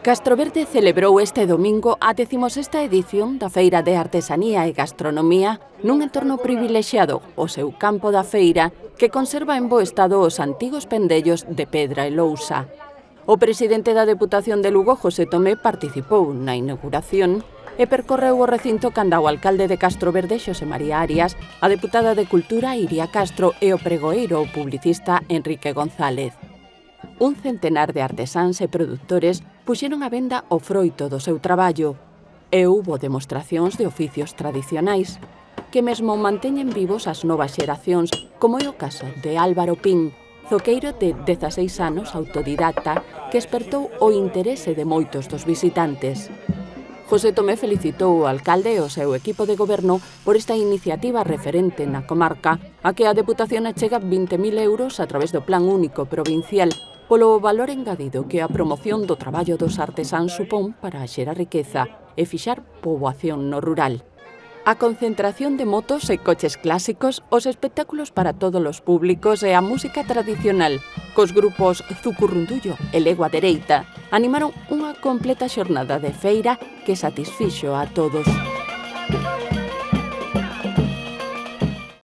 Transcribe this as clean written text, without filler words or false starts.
Castroverde celebrou este domingo a 16ª edición da Feira de Artesanía e Gastronomía nun entorno privilexiado, o seu campo da feira, que conserva en bo estado os antigos pendellos de pedra e lousa. O presidente da Deputación de Lugo, José Tomé, participou na inauguración e percorreu o recinto canda o alcalde de Castroverde, Xosé María Arias, a deputada de Cultura, Iria Castro, e o pregoeiro ou publicista Enrique González. Un centenar de artesáns e produtores puxeron a venda o froito do seu traballo e houbo demostracións de oficios tradicionais que mesmo manteñen vivos as novas xeracións, como é o caso de Álvaro Pín, zoqueiro de 16 anos autodidacta que espertou o interese de moitos dos visitantes. José Tomé felicitou o alcalde e o seu equipo de goberno por esta iniciativa referente na comarca a que a Deputación achega 20.000 euros a través do Plan Único Provincial polo valor engadido que a promoción do traballo dos artesáns supón para xerar riqueza e fixar poboación no rural. A concentración de motos e coches clásicos, os espectáculos para todos os públicos e a música tradicional, cos grupos Zucurrundullo e Legua Dereita, animaron unha completa xornada de feira que satisfixo a todos.